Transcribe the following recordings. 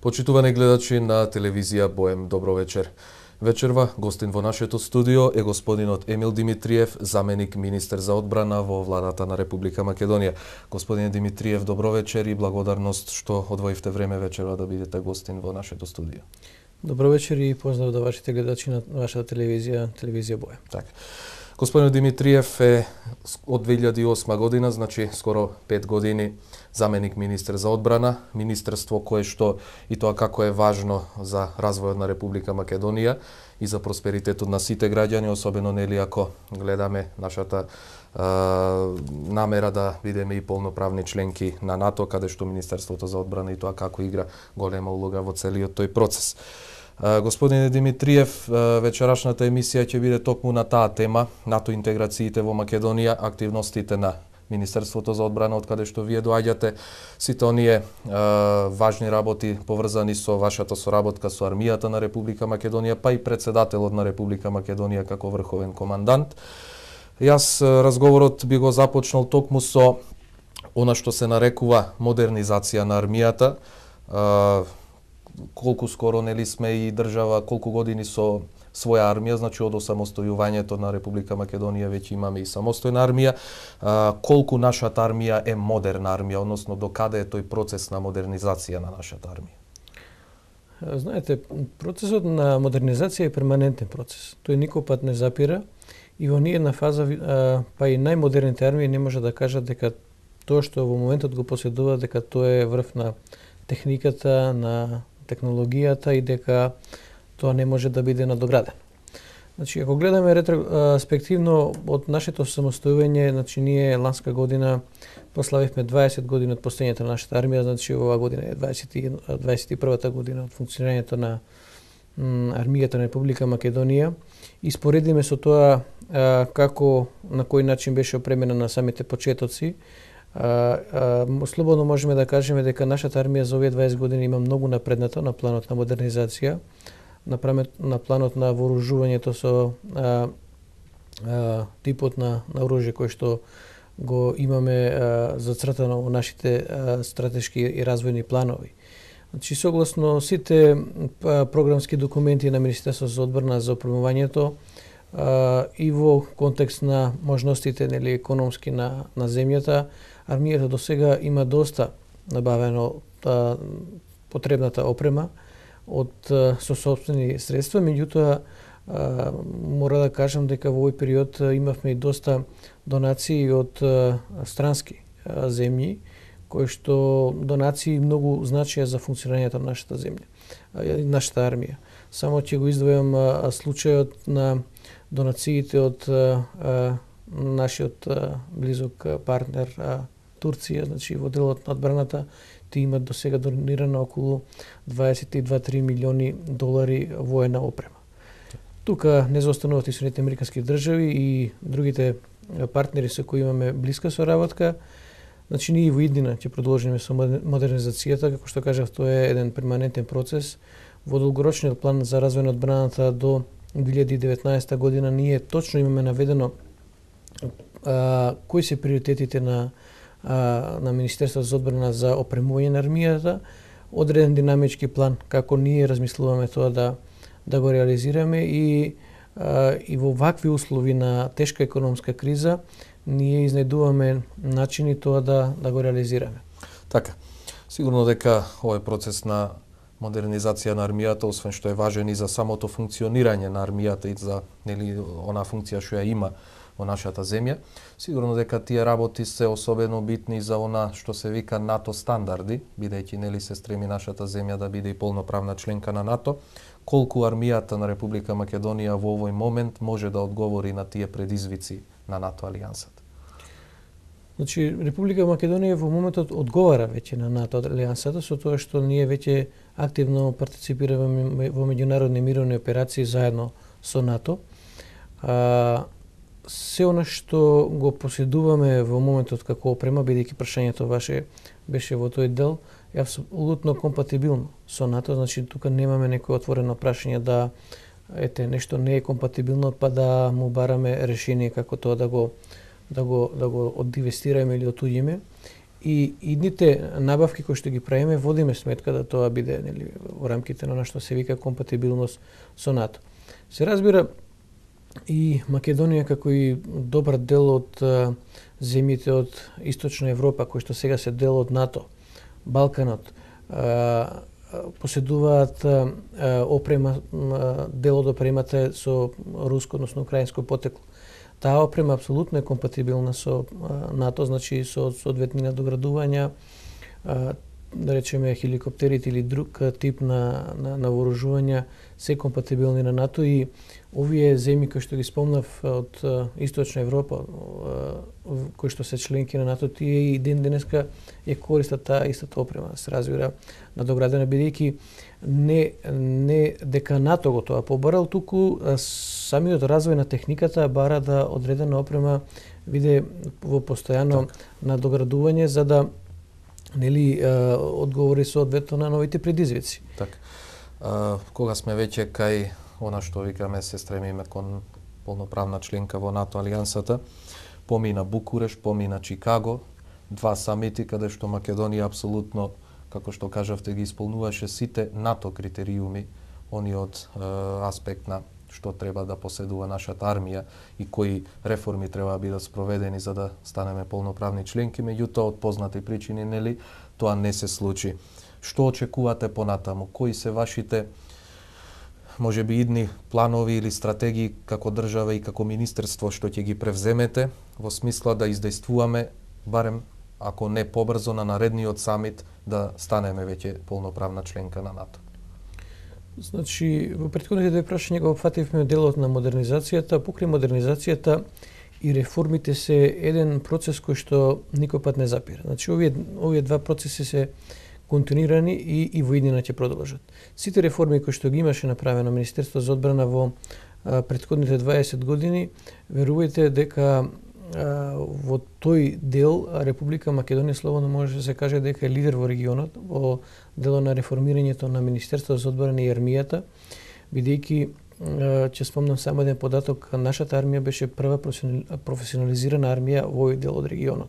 Почитувани гледачи на телевизија Боем, добро вечер. Вечерва гостин во нашето студио е господинот Емил Димитриев, заменик министер за одбрана во владата на Република Македонија. Господине Димитриев, добро вечер и благодарност што одвоивте време вечерва да бидете гостин во нашето студио. Добро вечер и поздрав до вашите гледачи на вашата телевизија Боем. Така. Господин Димитриев е од 2008 година, значи скоро 5 години, заменик министер за одбрана, министерство кое што и тоа како е важно за развојот на Република Македонија и за просперитетот на сите граѓани, особено нели ако гледаме нашата намера да бидеме и полноправни членки на НАТО, каде што Министерството за одбрана и тоа како игра голема улога во целиот тој процес. Господине Димитриев, вечерашната емисија ќе биде токму на таа тема, НАТО интеграциите во Македонија, активностите на Министерството за одбрана, од каде што вие доаѓате, сите оние важни работи поврзани со вашата соработка со армијата на Република Македонија, па и председателот на Република Македонија како врховен командант. Јас разговорот би го започнал токму со она што се нарекува модернизација на армијата. Колку скоро нели сме и држава, колку години со своја армија, значи од осамостојувањето на Република Македонија веќе имаме и самостојна армија. Колку нашата армија е модерна армија, односно до каде е тој процес на модернизација на нашата армија? Знаете, процесот на модернизација е перманентен процес. Тој никој пат не запира и во ниедна фаза, па и најмодерните армии не може да кажат дека тоа што во моментот го поседува, дека тоа е врв на техниката, на технологијата и дека тоа не може да биде надоградено. Значи, ако гледаме ретроспективно од нашето самостојување, значи ние ланска година прославивме 20 години од постоењето на нашата армија, значи оваа година е 21-та година од функционирањето на армијата на Република Македонија и споредиме со тоа како на кој начин беше опремена на самите почетоци. Слободно можеме да кажеме дека нашата армија за овие 20 години има многу напредната на планот на модернизација, на планот на вооружувањето со типот на оружје кој што го имаме зацртано во нашите стратешки и развојни планови. Значи, согласно сите програмски документи на Министерството за одбрана за опремувањето и во контекст на можностите нели економски на земјата, армијата до сега има доста набавено потребната опрема со сопствени средства, меѓутоа мора да кажам дека во овој период имавме и доста донации од странски земји, кои што донации многу значија за функционирањето на нашата земја, нашата армија. Само ќе го издвојам случајот на донациите од нашиот близок партнер Турција, значи во делот на одбраната, тие имат до сега донирано околу 22-3 милиони долари воена опрема. Тука не заостануваат и Соединетите американски држави и другите партнери со кои имаме блиска соработка. Значи ние во иднина ќе продолжиме со модернизацијата, како што кажав, тоа е еден перманентен процес. Во долгорочниот план за развој на одбраната до 2019 година ние точно имаме наведено кои се приоритетите на Министерството за одбрана за опремување на армијата, одреден динамички план како ние размислуваме тоа да го реализираме и во вакви услови на тешка економска криза ние изнајдуваме начини тоа да го реализираме. Така. Сигурно дека овој процес на модернизација на армијата, освен што е важен и за самото функционирање на армијата и за нели она функција што ја има во нашата земја, сигурно дека тие работи се особено битни за она што се вика НАТО стандарди, бидејќи нели се стреми нашата земја да биде и полноправна членка на НАТО. Колку армијата на Република Македонија во овој момент може да одговори на тие предизвици на НАТО алијансата? Значи, Република Македонија во моментот одговара веќе на НАТО алијансата со тоа што ние веќе активно партиципираме во меѓународни мировни операции заедно со НАТО. Се она што го поседуваме во моментот како опрема, бидејќи прашањето ваше беше во тој дел, е апсолутно компатибилно со НАТО, значи тука немаме некој отворено прашање да нешто не е компатибилно, па да му бараме решение како тоа да го одинвестираме или отуѓиме. и идните набавки кои што ги правиме водиме сметка да тоа биде нели во рамките на што се вика компатибилност со НАТО. Се разбира и Македонија како и добар дел од земјите од Источна Европа кои што сега се дел од НАТО, Балканот, поседуваат опрема, дел од опремата е со руско, односно украинско потекло. Таа опрема апсолутно е компатибилна со НАТО, значи со соодветни надоградувања, да речеме хеликоптерите или друг тип на вооружувања се компатибилни на НАТО и овие земји кои што ги спомнав од Источна Европа, кои што се членки на НАТО, тие и ден денеска ја користат таа истата опрема, се разбира надоградена, бидејќи не дека НАТО го тоа побарал, туку самиот развој на техниката бара да одредена опрема биде во постојано надоградување за да нели одговори соодветно на новите предизвици. Така. Кога сме веќе кај она што викаме се стремиме кон полноправна членка во НАТО алијансата, помина Букуреш, помина Чикаго, два самити каде што Македонија апсолутно, како што кажавте, ги исполнуваше сите НАТО критериуми, они од аспект на што треба да поседува нашата армија и кои реформи треба да бидат спроведени за да станеме полноправни членки, меѓутоа од познати причини нели тоа не се случи. Што очекувате понатаму? Кои се вашите можеби идни планови или стратегии како држава и како министерство што ќе ги превземете во смисла да издействуваме барем ако не побрзо на наредниот самит да станеме веќе полноправна членка на НАТО? Значи, во претходните две прашања го опфативме делот на модернизацијата. Покрај модернизацијата и реформите се еден процес кој што никој пат не запира. Значи, овие два процеси се континуирани и во иднина ќе продолжат. Сите реформи кои што ги имаше направено Министерство за одбрана во претходните 20 години, верувајте дека во тој дел Република Македонија слободно може да се каже дека е лидер во регионот во дело на реформирањето на Министерството за одбрана и армијата, бидејќи ќе спомнам само еден податок, нашата армија беше прва професионализирана армија во овој дел од регионот.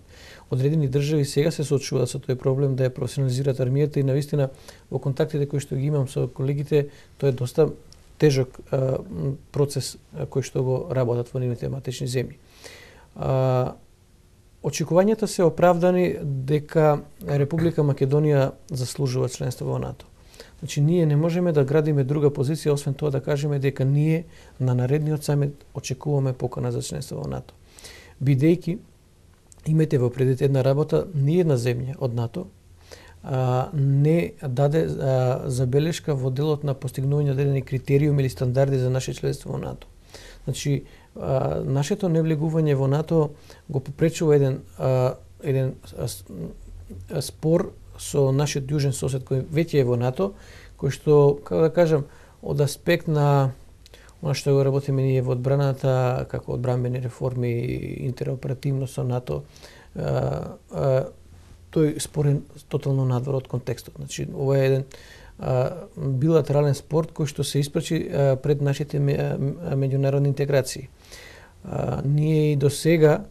Одредени држави сега се соочуваат со тој проблем да ја професионализираат армијата и навистина во контактите кои што ги имам со колегите, тоа е доста тежок процес кој што го работат во нивните матични земји. Очекувањата се оправдани дека Република Македонија заслужува членство во НАТО. Значи, ние не можеме да градиме друга позиција, освен тоа да кажеме дека ние на наредниот самит очекуваме покана за членство во НАТО. Бидејќи, имате во предвид една работа, ниедна земја од НАТО не даде забелешка во делот на постигнување одредени критериуми или стандарди за наше членство во НАТО. Значи, нашето невлегување во НАТО го попречува еден спор со нашиот јужен сосед кој веќе е во НАТО, кој што, како да кажам, од аспект на она што го работиме ние во одбраната, како одбранбени реформи, интероперативност со НАТО, тој спор е тотално надвор од контекстот. Значи, ова е еден билатерален спорт кој што се испрачи пред нашите меѓународни интеграции. Ние и до сега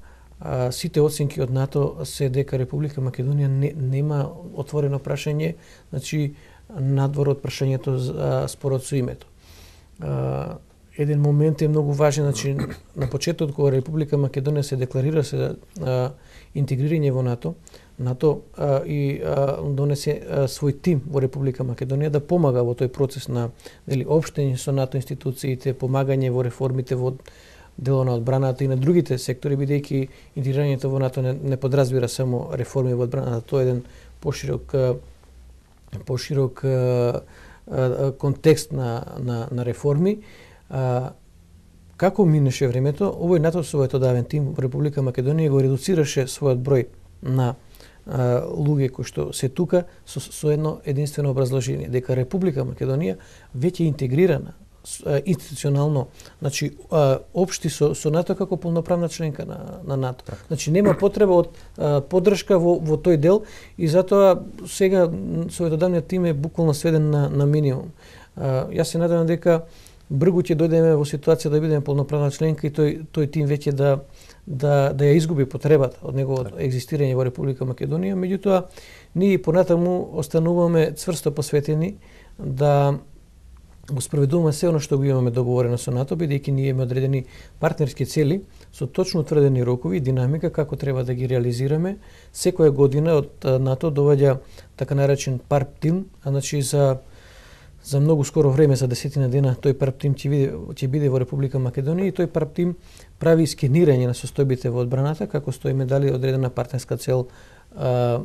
сите оценки од НАТО се дека Република Македонија нема отворено прашање, значи надвор од прашањето за спорот со името. Еден момент е многу важен, значи на почетокот кога Република Македонија се декларира се интегрирање во НАТО, НАТО донесе свој тим во Република Македонија да помага во тој процес на општење со НАТО институциите, помагање во реформите во дело на одбраната и на другите сектори, бидејќи интегрирањето во НАТО не подразбира само реформи во одбраната, тоа е еден поширок контекст на реформи. Како минеше времето, овој НАТО својот одавен тим во Република Македонија го редуцираше својот број на луѓе кои што се тука со едно единствено образложение, дека Република Македонија веќе интегрирана институционално, значи општи со НАТО како полноправна членка на НАТО. Значи нема потреба од поддршка во тој дел и затоа сега советодавниот тим е буквално сведен на минимум. Јас се надевам дека бргу ќе дојдеме во ситуација да бидеме полноправна членка и тој тим веќе да ја изгуби потребата од неговото екзистирање во Република Македонија. Меѓутоа, ние понатаму остануваме цврсто посветени да го спроведуваме се оно што го имаме договорено со НАТО, бидејќи ние имаме одредени партнерски цели со точно утврдени рокови и динамика како треба да ги реализираме. Секоја година од НАТО доаѓа така наречен ПАРП тим, значи за многу скоро време, за 10 дена, тој ПАРП тим ќе биде во Република Македонија и тој ПАРП тим прави скенирање на состојбите во одбраната, како што име дали одредена партнерска цел ја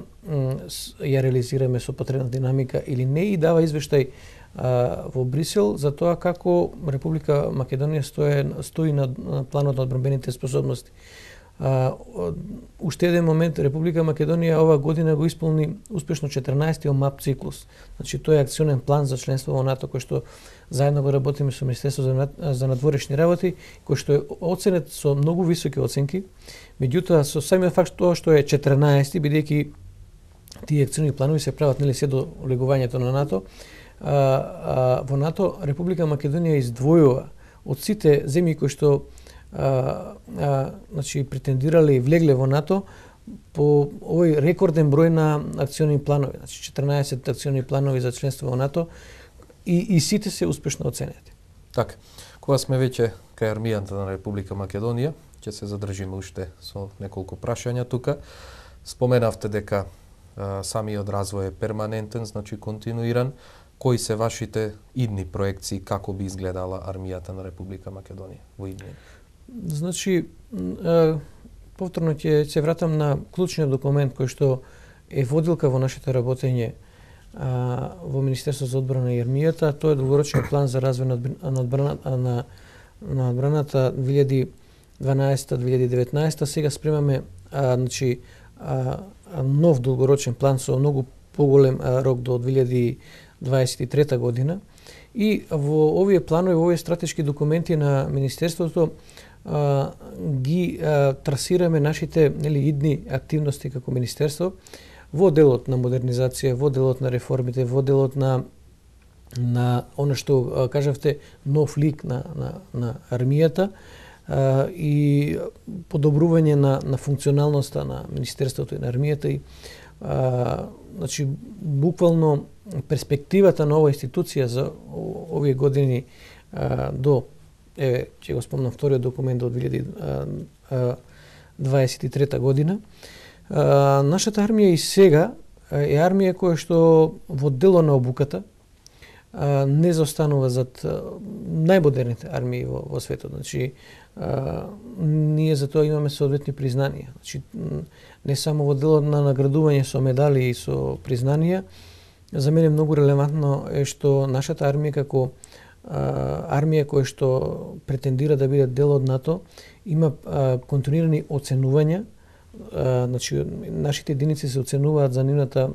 реализираме со потребна динамика или не, и дава извештај во Брисел за тоа како Република Македонија стои на планот на одбранбените способности. Уште еден момент, Република Македонија ова година го исполни успешно 14-тиот МАП циклус. Значи тој е акционен план за членство во НАТО кој што заедно го работиме со Министерството за надворешни работи, кој што е оценет со многу високи оценки. Меѓутоа со самиот факт тоа што е 14-ти, бидејќи тие акциони планови се прават нели се до влегувањето на НАТО, во НАТО Република Македонија издвојува од сите земји кои што значи претендирале и влегле во НАТО по овој рекорден број на акциони планови, значи 14 акциони планови за членство во НАТО и сите се успешно оценети. Така, кога сме веќе кај армијата на Република Македонија, ќе се задржиме уште со неколку прашања тука. Споменавте дека самиот развој е перманентен, значи континуиран. Кои се вашите идни проекции, како би изгледала армијата на Република Македонија во идни? Значи, повторно ќе се вратам на клучниот документ кој што е водилка во нашето работење во Министерството за одбрана и армијата. Тоа е долгорочен план за развој на одбраната 2012-2019. Сега спремаме значи нов долгорочен план со многу поголем рок до 2023 година. И во овие планови, во овие стратешки документи на Министерството ги трасираме нашите идни активности како Министерство во делот на модернизација, во делот на реформите, во делот на оно што кажавте нов лик на армијата и подобрување на функционалноста на Министерството и на армијата и значи буквално перспективата на оваа институција за овие години до ќе го спомнам вториот документ до 2023 година. Нашата армија и сега е армија која што во дело на обуката не заостанува зад најмодерните армии во светот. Значи ние за тоа имаме соодветни признанија. Значи не само во делот на наградување со медали и со признанија, за мене многу релевантно е што нашата армија како армија која што претендира да биде дел од НАТО има континуирани оценувања. Значи нашите единици се оценуваат за нивната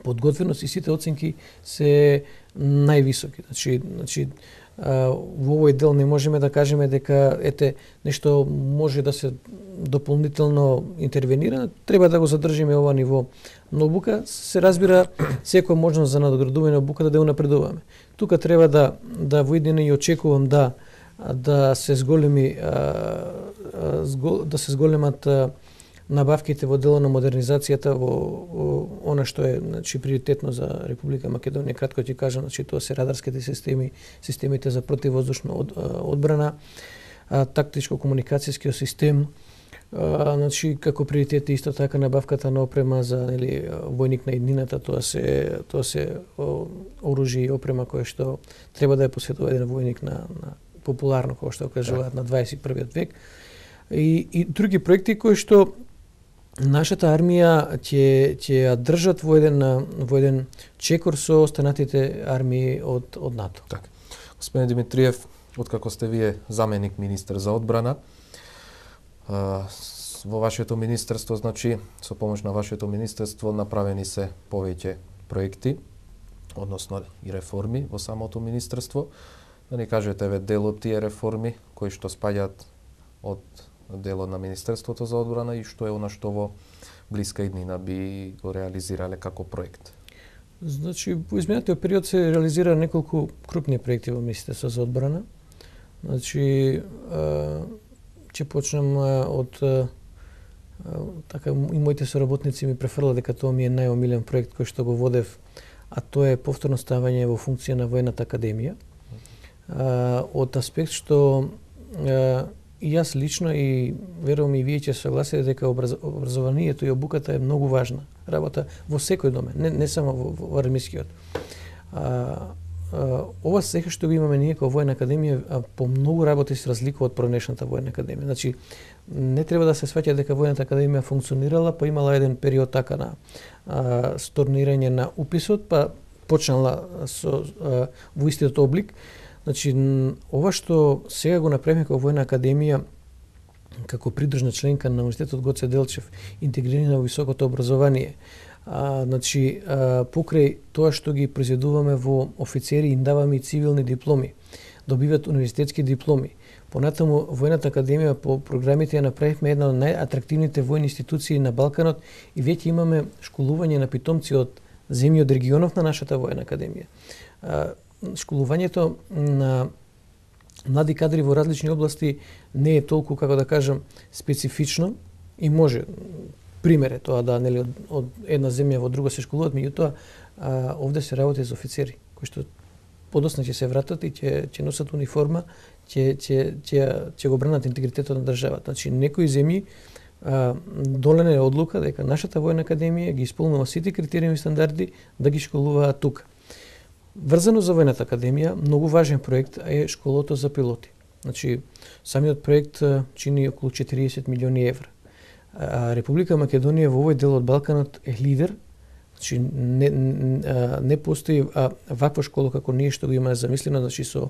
подготвеност и сите оценки се највисоки. Значи во овој дел не можеме да кажеме дека нешто може да се дополнително интервенира, треба да го задржиме ова ниво. Но обука се разбира секоја можност за надградување на обуката да ја унапредуваме. Тука треба да во иднина и очекувам да се зголемат набавките во дело на модернизацијата во она што е значи приоритетно за Република Македонија. Кратко ќе кажам, значи тоа се радарските системи, системите за противвоздушна одбрана, тактичко-комуникацијскиот систем, значи како приоритет исто така набавката на опрема за војник на иднината. Тоа се оружје и опрема која што треба да ја посветува еден војник на популарно, како што кажуваат, на 21 век. И други проекти кои што нашата армија ќе ја држат во еден чекор со останатите армии од НАТО. Така. Господин Димитриев, откако сте вие заменик министер за одбрана, во вашето министерство, значи со помош на вашето министерство направени се повеќе проекти, односно и реформи во самото министерство. Да ни кажете дел од тие реформи кои што спаѓаат од делот на Министерството за одбрана и што е она што во блиска иднина би го реализирале како проект? Значи, во изминатиот период се реализира неколку крупни проекти во Министерството за одбрана. Значи, ќе почнам од така и моите соработници ми префрла дека тоа ми е најомилен проект кој што го водев, а тоа е повторно ставање во функција на Воената академија. Од аспект што и јас лично и верувам и вие ќе согласите дека образованието и обуката е многу важна работа во секој домен, не само во армискиот. Ова сега што го имаме ние како Воена академија по многу работи се разликува од пронешната Воена академија. Значи, не треба да се сваќа дека Воената академија функционирала, па имала еден период така на stornирање на уписот, па почнала во истиот облик. Значи, ова што сега го направиме како Воена академија, како придружна членка на Универзитетот Гоце Делчев, интегрирани во високото образование, значи, покрај тоа што ги произведуваме во офицери, им даваме и цивилни дипломи, добиваат универзитетски дипломи. Понатаму, Воената академија по програмите ја направивме една од најатрактивните војни институции на Балканот и веќе имаме школување на питомци од земји од регионов на нашата Воена академија. Школувањето на млади кадри во различни области не е толку, како да кажам, специфично и може, пример е тоа да, нели, од една земја во друга се школуваат, меѓутоа овде се работи за офицери, кои што подосна ќе се вратат и ќе носат униформа, ќе го бранат интегритетот на државата. Значи, некои земји донеле одлука дека нашата Воена академија ги исполнува сите критериуми и стандарди да ги школуваат тука. Врзано за Воената академија, многу важен проект е школото за пилоти. Значи, самиот проект чини околу 40 милиони евра. Република Македонија во овој дел од Балканот е лидер. Значи, не постои ваква школа како ние што го има замислено, значи со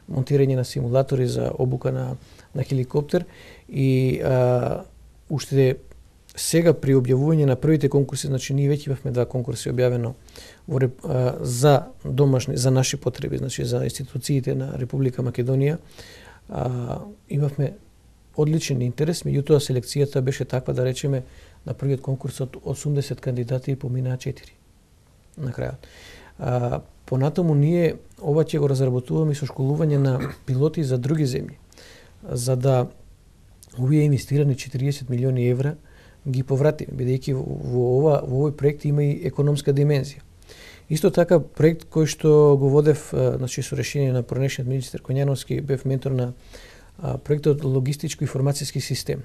монтирање на симулатори за обука на хеликоптер и уште сега при објавување на првите конкурси, значи ние веќе имавме 2 конкурси објавено за домашни, за наши потреби, значи за институциите на Република Македонија, имавме одличен интерес, меѓутоа селекцијата беше таква да речеме на првиот конкурс од 80 кандидати поминаа 4 на крајот. Понатаму ние ова ќе го разработуваме со школување на пилоти за други земји, за да овие инвестирани 40 милиони евра ги повратиме, бидејќи во овој проект има и економска димензија. Исто така проект кој што го водев, значи со решение на пронешниот министер Коњановски, бев ментор на проектот логистичко информацијски систем.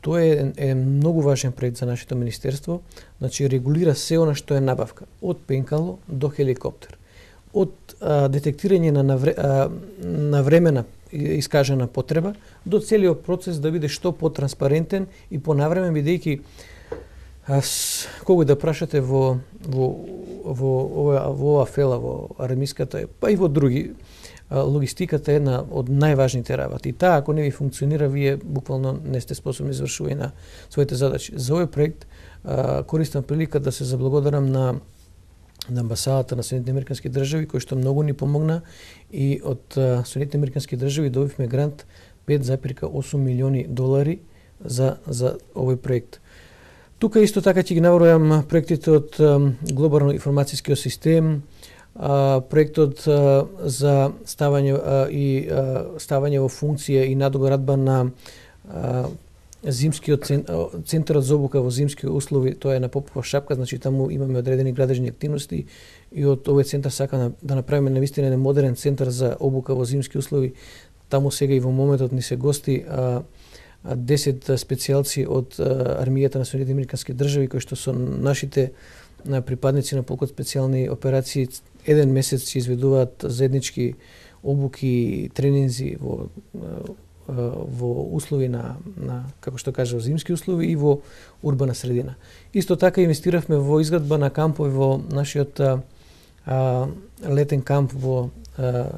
Тоа е многу важен проект за нашето министерство, значи регулира се она што е набавка, од пенкало до хеликоптер, од детектирање на времена искажана потреба до целиот процес да биде што потранспарентен и понавремен, бидејќи кога да прашате во ова фела, во армиската, па и во други, логистиката е една од најважните работи. И таа, ако не ви функционира, вие буквално не сте способни за извршување на своите задачи. За овој проект користам прилика да се заблагодарам на амбасадата на Соединетите американски држави, кој што многу ни помогна и од Соединетите американски држави добивме грант 5,8 милиони долари за овој проект. Тука исто така ќе ги набројам проектите од глобално информацијскиот систем, проектот за ставање во функција и надоградба на зимскиот центарот за обука во зимски услови, тоа е на Попова шапка, значи таму имаме одредени градежни активности и од овој центар сака да направиме навистина еден модерен центар за обука во зимски услови. Таму сега и во моментот ни се гости 10 специјалци од армијата на Соединетите американски држави, кои што со нашите припадници на полкот специјални операции еден месец се изведуваат заеднички обуки и тренинзи во услови на како што кажа, зимски услови и во урбана средина. Исто така инвестиравме во изградба на кампови во нашиот летен камп во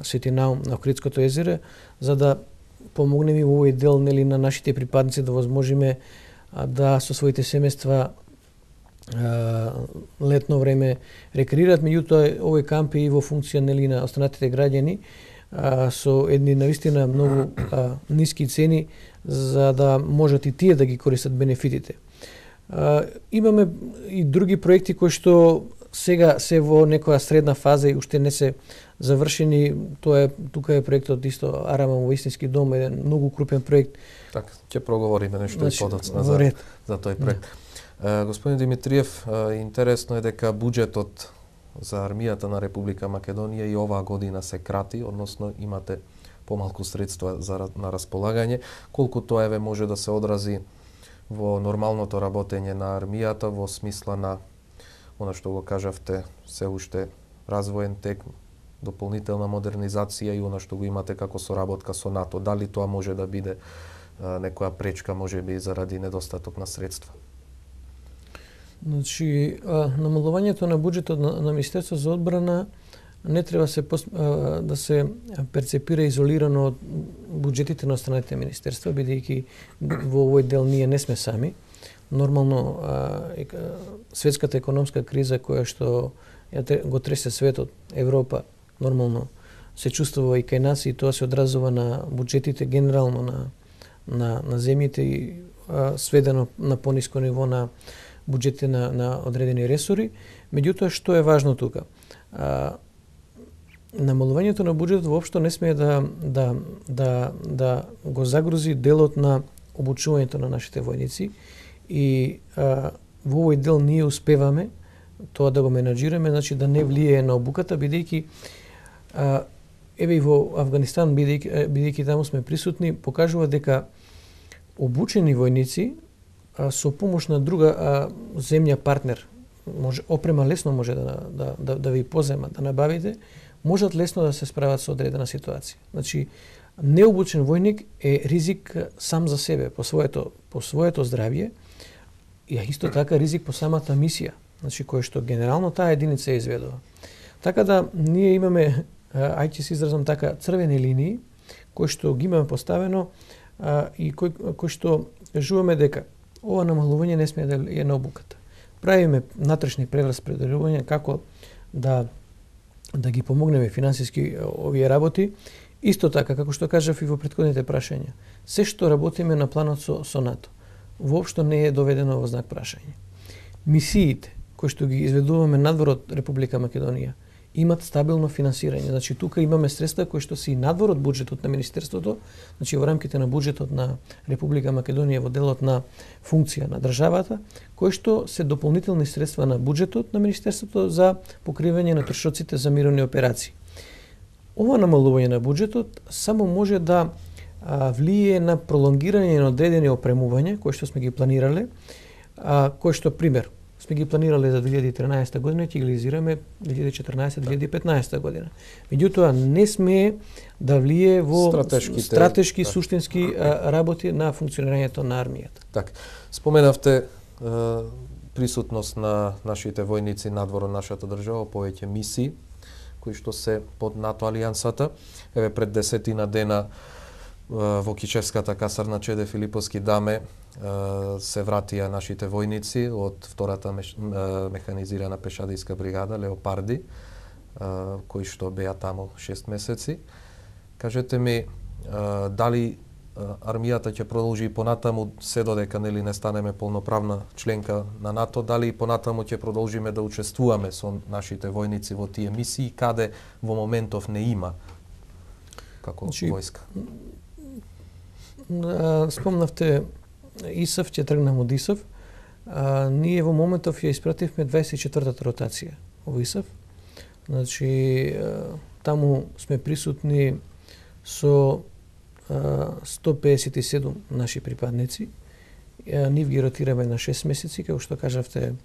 Светинаум на Охридското езеро, за да помогнеме во овој дел, нели, на нашите припадници да возможиме да со своите семејства летно време рекреираат, меѓутоа овој камп е и во функција, нели, на останатите граѓани со едни навистина многу ниски цени за да можат и тие да ги користат бенефитите. Имаме и други проекти кои што сега се во некоја средна фаза и уште не се завршени. Тука е проектот исто Арама во истински дом, еден многу крупен проект. Така, ќе проговориме нешто и подоцна за тој проект. Господин Димитриев, интересно е дека буџетот за армијата на Република Македонија и оваа година се крати, односно имате помалку средства на располагање. Колку тоа може да се одрази во нормалното работење на армијата во смисла на она што го кажавте, се уште развоен тек, дополнителна модернизација и она што го имате како соработка со НАТО. Дали тоа може да биде некоја пречка, можеби заради недостаток на средства? Значи, намалувањето на буџетот на Министерство за одбрана не треба да се перцепира изолирано од буџетите на останатите министерства, бидејќи во овој дел ние не сме сами. Нормално, светската економска криза која што го тресе светот, Европа, нормално се чувствува и кај нас и тоа се одразува на буџетите генерално на земјите и сведено на пониско ниво на буџетите на одредени ресори. Меѓутоа, што е важно тука? Намалувањето на буџетот воопшто не смее да го загрози делот на обучувањето на нашите војници и во овој дел ние успеваме тоа да го менаџираме, значи да не влијае на обуката, бидејќи еве и во Авганистан, бидејќи таму сме присутни, покажува дека обучени војници со помош на друга земја партнер, опрема лесно може да ви позема, да набавите, можат лесно да се справат со одредена ситуација. Значи, необучен војник е ризик сам за себе, по своето здравје, и исто така ризик по самата мисија, значи кој што генерално таа единица изведува. Така да ние имаме, ќе се изразам така, црвени линии кои што ги имаме поставено и кои што кажуваме дека ова намалување не смее да е на обуката. Правиме натрешни прераспределувања како да ги помогнеме финансиски овие работи. Исто така, како што кажав и во претходните прашања, се што работиме на планот со НАТО, воопшто не е доведено во знак прашање. Мисиите кои што ги изведуваме надвор од Република Македонија имат стабилно финансирање. Значи, тука имаме средства кои што се и надвор од буџетот на Министерството, значи во рамките на буџетот на Република Македонија во делот на функција на државата, кои што се дополнителни средства на буџетот на Министерството за покривање на трошоците за мировни операции. Ова намалување на буџетот само може да влие на пролонгирање на одредени опремувања кои што сме ги планирале, кои што пример сме ги планирале за 2013 година и ќе ги реализираме 2014-2015 година. Меѓутоа не смее да влие во стратешки суштински работи на функционирањето на армијата. Так, споменавте присутност на нашите војници надвор од нашата држава, повеќе мисии кои што се под НАТО алијансата. Еве пред 10 дена во Кичевската касарна Чеде Филиповски даме се вратија нашите војници од втората механизирана пешадијска бригада Леопарди, кои што беа таму 6 месеци. Кажете ми, дали армијата ќе продолжи и понатаму, се додека не станеме полноправна членка на НАТО, дали и понатаму ќе продолжиме да учествуваме со нашите војници во тие мисии, каде во моментов не има како војска? Спомнавте ИСАФ, ќе тргнам од ИСАФ. Ние во моментов ја испративме 24-та ротација во ИСАФ. Значи, таму сме присутни со 157 наши припадници. Нив ги ротираме на 6 месеци, како што кажавте,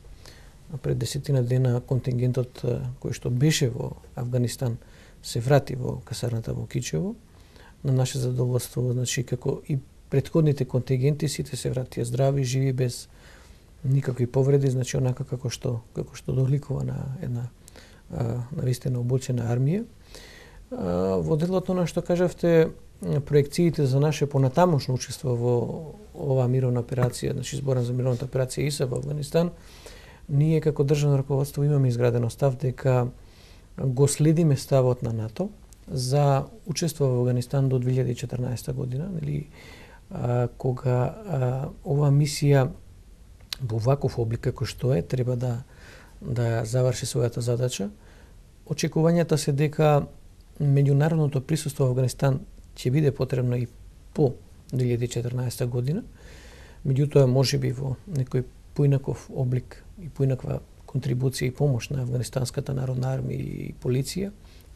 пред 10 дена контингентот кој што беше во Авганистан се врати во касарната во Кичево. На наше задоволство, значи, како и претходните контингенти, сите се вратија здрави, живи, без никакви повреди, значи онака како што доликува на една навистина обучена армија. Во делот на што кажавте, проекциите за наше понатамошно учество во оваа мировна операција, значи зборам за мировната операција ИСАФ во Авганистан, ние како државно раководство имаме изградено став дека го следиме ставот на НАТО за учество во Авганистан до 2014 година, нели, кога оваа мисија во ваков облик како што е, треба да да заврши својата задача. Очекувањата се дека меѓународното присуство во Авганистан ќе биде потребно и по 2014 година. Меѓутоа, можеби во некој поинаков облик и поинаква контрибуција и помош на Авганистанската народна армија и полиција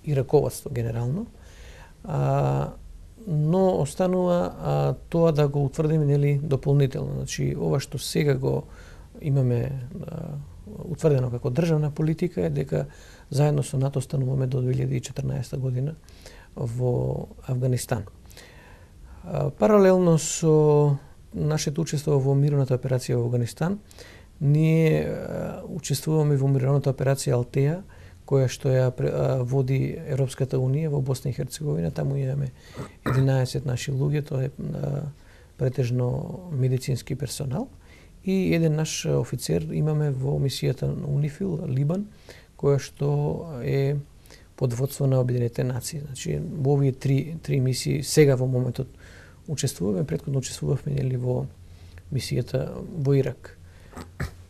и раководство генерално. Но останува тоа да го утврдиме нели дополнително. Значи, ова што сега го имаме утврдено како државна политика е дека заедно со НАТО стануваме до 2014 година во Авганистан. Паралелно со нашето учество во мировната операција во Авганистан, ние учествуваме во мировната операција Алтеја, која што ја води Европската унија во Босна и Херцеговина. Таму имаме 11 наши луѓе, тоа е претежно медицински персонал. И еден наш офицер имаме во мисијата на УНИФИЛ, Либан, која што е под водство на Обединетите нации. Значи, во овие три мисии сега во моментот учествуваме, претходно учествувавме нели во мисијата во Ирак.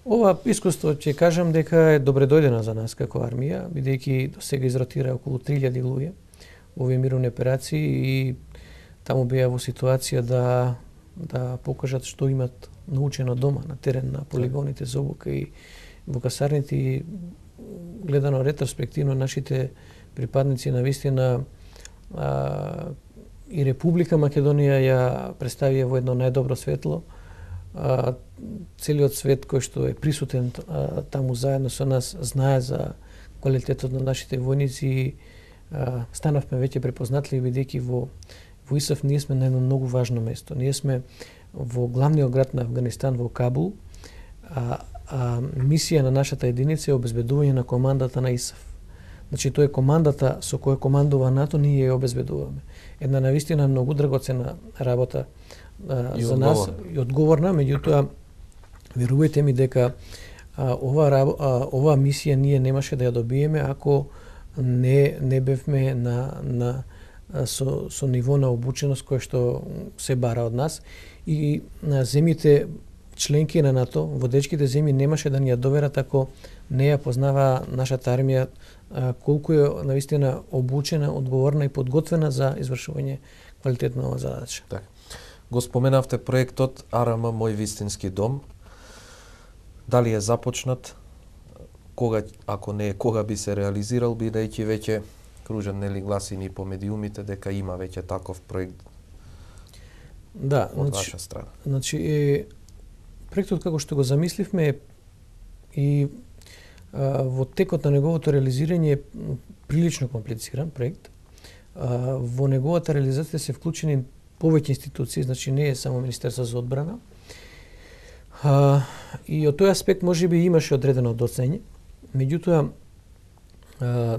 Ова искуство ќе кажам дека е добредојдена за нас како армија, бидејќи до сега изротира околу 3000 луѓе во овие мировни операции и таму беа во ситуација да покажат што имат научено дома на терен на полигоните за обука и во касарните, и гледано ретроспективно нашите припадници на вистина и Република Македонија ја представија во едно најдобро светло. Целиот свет кој што е присутен таму заедно со нас знае за квалитетот на нашите војници и станавме веќе препознатливи бидејќи во ИСАФ ние сме на едно многу важно место. Ние сме во главниот град на Авганистан, во Кабул, мисија на нашата единица е обезбедување на командата на ИСАФ. Значи, тоа е командата со која командува НАТО, ние ја обезбедуваме. Една навистина многу драгоцена работа за нас и одговорна, меѓутоа верувајте ми дека ова мисија ние немаше да ја добиеме ако не бевме со ниво на обученост кој што се бара од нас и на земјите членки на НАТО, водечките земји немаше да ни ја доверат ако не ја познава нашата армија колку е навистина обучена, одговорна и подготвена за извршување квалитетна ова задача. Так. Го споменавте проектот АРМ Мој вистински дом. Дали е започнат? Кога, ако не е, кога би се реализирал, бидејќи веќе кружат нели гласини по медиумите дека има веќе таков проект? Да, од ваша страна. Значи, проектот како што го замисливме и во текот на неговото реализирање е прилично комплициран проект. Во неговата реализација се вклучени повеќе институции, значи не е само Министерство за одбрана. И од тој аспект можеби имаше одредено доцење. Меѓутоа,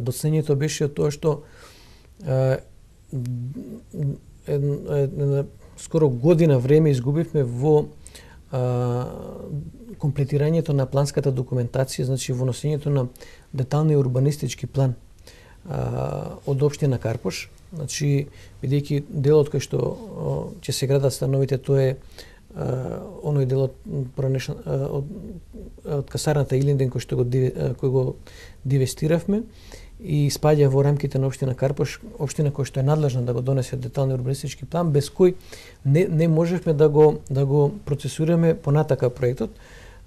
доцењето беше од тоа што скоро година време изгубивме во комплетирањето на планската документација, значи во носењето на деталниот урбанистички план од општина Карпош. Значи, бидејќи делот кој што ќе се градат становите, тоа е оној делот од касарната Илинден кој што го дивестиравме и спаѓа во рамките на општина Карпош, општина која што е надлежна да го донесе деталниот урбанистички план, без кој не можевме да го процесираме понатака проектот.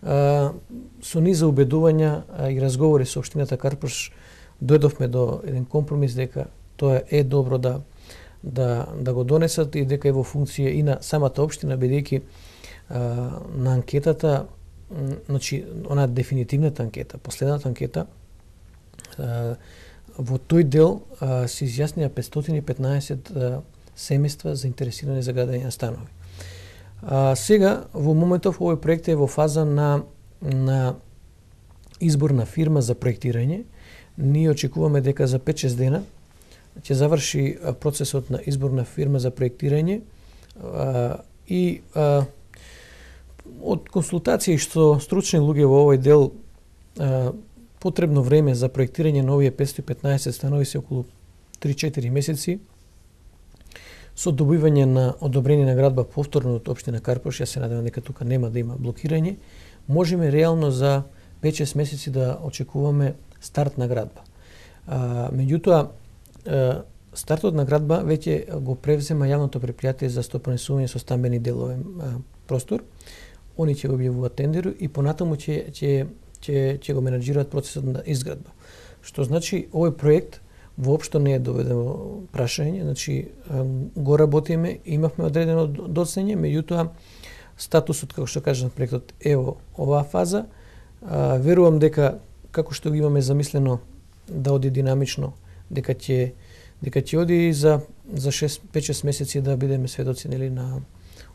Со низа убедувања и разговори со општината Карпош дојдовме до еден компромис дека тоа е добро да го донесат и дека е во функција и на самата општина, бидејќи на анкетата, значи она дефинитивната анкета, последната анкета, во тој дел се изјаснија 515 семејства заинтересирани за градење на станови. Сега, во моментов, овој проект е во фаза на избор на фирма за проектирање. Ние очекуваме дека за 5-6 дена ќе заврши процесот на избор на фирма за проектирање и од консултации што стручни луѓе во овој дел потребно време за проектирање на овие 515 станови се околу 3-4 месеци. Со добивање на одобрение на градба повторно од општина Карпош, ја се надевам дека тука нема да има блокирање, можеме реално за 5-6 месеци да очекуваме старт на градба. Меѓутоа, стартот на градба веќе го превзема јавното предпријатие за стопанисување со стамбени делови простор. Они ќе го објавуваат тендер и понатаму ќе го менаџираат процесот на изградба. Што значи овој проект воопшто не е доведен во прашање, значи го работиме, имавме одредено доцнење, меѓутоа статусот, како што кажам, проектот е во оваа фаза. Верувам дека како што го имаме замислено да оди динамично, дека ќе оди за 5-6 месеци да бидеме сведоци на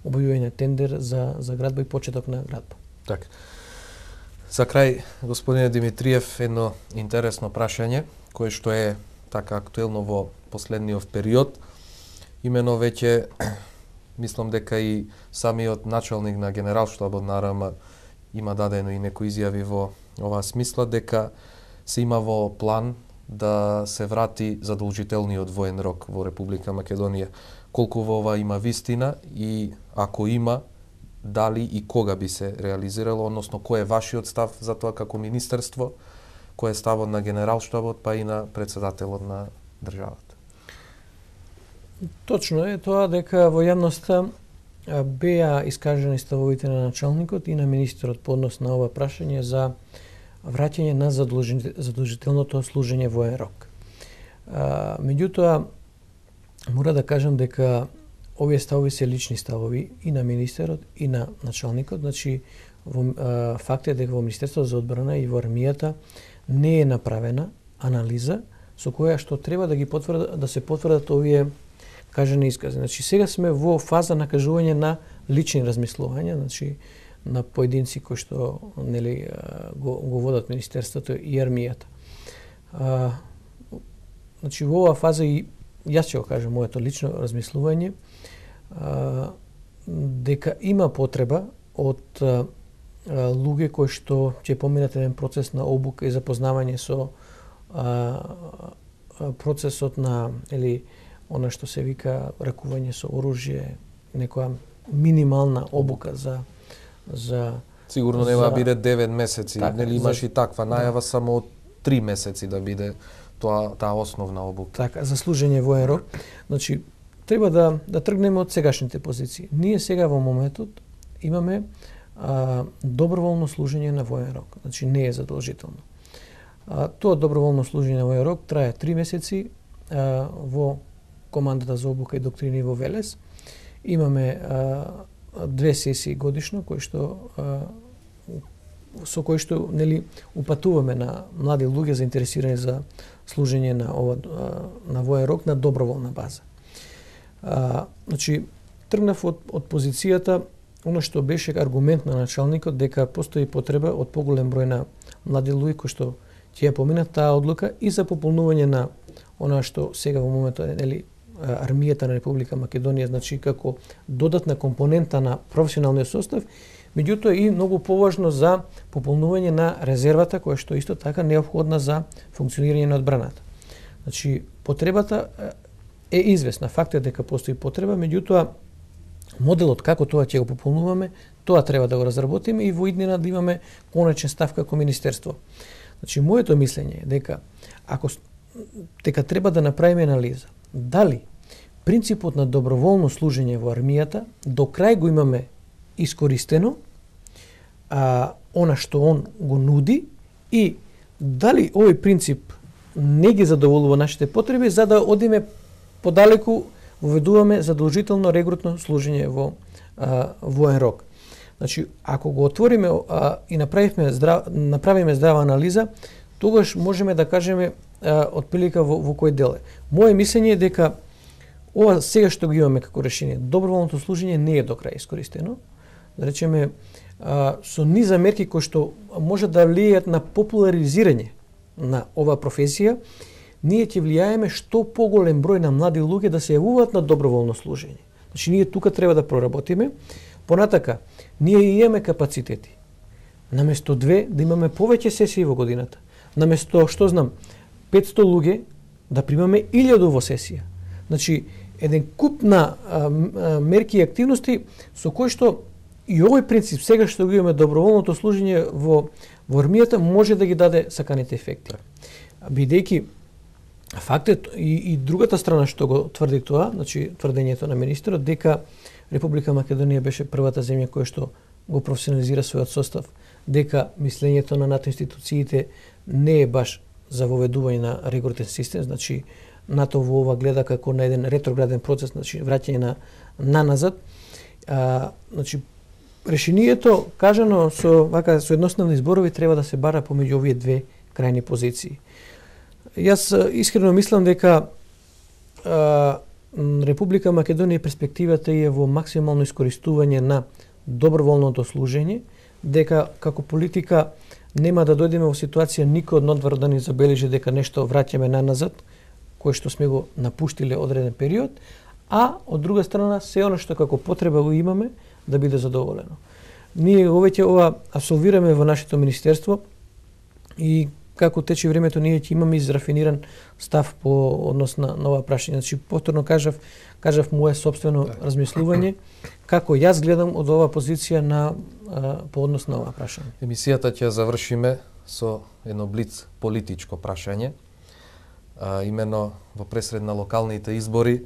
објавување тендер за градба и почеток на градба. Така. За крај, господине Димитриев, едно интересно прашање, кое што е така актуелно во последниот период. Имено веќе, мислам дека и самиот началник на Генералштабот на РМ има дадено и некои изјави во оваа смисла, дека се има во план да се врати задолжителниот воен рок во Република Македонија. Колку во ова има вистина и ако има, дали и кога би се реализирало, односно кој е вашиот став за тоа како министерство, кој е ставот на Генералштабот, па и на председателот на државата? Точно е тоа дека во јавноста беа искажани ставовите на началникот и на министерот по однос на ова прашање за враќање на задолжителното служење воен рок. Меѓутоа, мора да кажам дека овие ставови се лични ставови и на министерот и на началникот. Значи, факт е дека во Министерството за одбрана и во армијата не е направена анализа со која што треба да се потврдат овие кажани искази. Значи, сега сме во фаза на кажување на лични размислувања, значи на поединци кои што го водат Министерството и армијата. Значи, во оваа фаза и јас ќе го кажам моето лично размислување, дека има потреба од луѓе кои што ќе поминат еден процес на обука и запознавање со процесот на она што се вика ракување со оружје, некоја минимална обука за сигурно нема да биде 9 месеци, така, имаш и таква најава само од 3 месеци да биде таа основна обука. Така, за служење воен рок. Значи, треба да тргнеме од сегашните позиции. Ние сега во моментот имаме доброволно служење на воен рок. Значи, не е задолжително. Тоа доброволно служење на воен рок трае 3 месеци во командата за обука и доктрини во Велес. Имаме 2 сесии годишно со кои што упатуваме на млади луѓе заинтересирани за служење на воен рок на доброволна база. Значи, тргнав од позицијата оно што беше аргумент на началникот дека постои потреба од поголем број на млади луѓе кои што ќе ја поминат таа одлука и за пополнување на она што сега во моментот армијата на Република Македонија, значи како додатна компонента на професионалниот состав, меѓутоа и многу поважно за пополнување на резервата која што исто така неопходна за функционирање на одбраната. Значи, потребата е известна, факт е дека постои потреба, меѓутоа моделот како тоа ќе го пополнуваме, тоа треба да го разработиме и во иднина да имаме конечен став како министерство. Значи, моето мислење е дека треба да направиме анализа дали принципот на доброволно служење во армијата до крај го имаме искористено, она што он го нуди, и дали овој принцип не ги задоволува нашите потреби, за да одиме подалеку, воведуваме задолжително регрутно служење во воен рок. Значи, ако го отвориме и направиме здрава анализа, тогаш можеме да кажеме отприлика во кој дел е. Моje мислење е дека ова сега што го имаме како решение, доброволното служење не е до крај искористено. Да речеме, со низа мерки кои што може да влијаат на популаризирање на оваа професија, ние ќе влијаеме што поголем број на млади луѓе да се јавуваат на доброволно служење. Значи, ние тука треба да проработиме. Понатака, ние имаме капацитети. Наместо 2 да имаме повеќе сесии во годината. Наместо, 500 луѓе да примаме 1000 во сесија. Значи, еден куп на мерки и активности со кои што и овој принцип сега што го имаме доброволното служење во во армијата може да ги даде саканите ефекти. Бидејќи фактот и другата страна што го тврди тоа, значи тврдењето на министерот дека Република Македонија беше првата земја која што го професионализира својот состав, дека мислењето на НАТО институциите не е баш за воведување на ригоритен систем, значи НАТО во ова гледа како на еден ретрограден процес, значи враќање на назад. Значи решението кажано со едноставни зборови треба да се бара помеѓу овие две крајни позиции. Јас искрено мислам дека Република Македонија перспективата е во максимално искористување на доброволното служење, дека како политика нема да дојдеме во ситуација никој од надвор да ни забележи дека нешто враќаме назад, кој што сме го напуштиле одреден период, а од друга страна се оно што како потреба го имаме да биде задоволено. Ние веќе ова абсолвираме во нашето министерство и како тече времето ние ќе имаме израфиниран став по однос на ова прашање. Значи повторно кажав мое собствено размислување како јас гледам од оваа позиција по однос на ова прашање. Емисијата ќе завршиме со едно блиц политичко прашање. Имено во пресред на локалните избори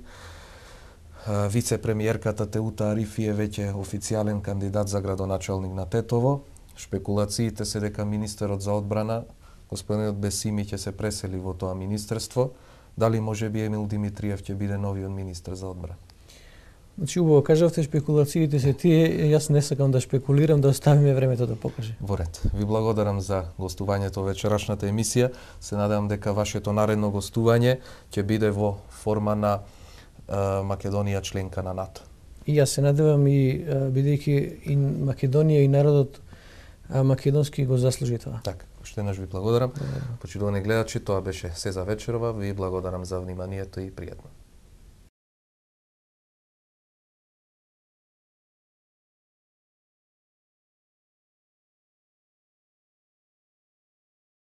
вице-премиерката Теута Арифи е веќе официјален кандидат за градоначалник на Тетово. Шпекулациите се дека министерот за одбрана господинот Бесими ќе се пресели во тоа министерство. Дали можеби Емил Димитриев ќе биде новиот министер за одбрана? Значи, убаво кажавте, шпекулациите се тие, јас не сакам да шпекулирам, да оставиме времето да покаже. Во ред. Ви благодарам за гостувањето во вечерашната емисија. Се надевам дека вашето наредно гостување ќе биде во форма на Македонија членка на НАТО. И јас се надевам и бидејќи и Македонија и народот македонски го заслужи тоа. Така, уште еднаш ви благодарам. Почитувани гледачи, тоа беше се за вечерова. Ви благодарам за вниманието и пријатно.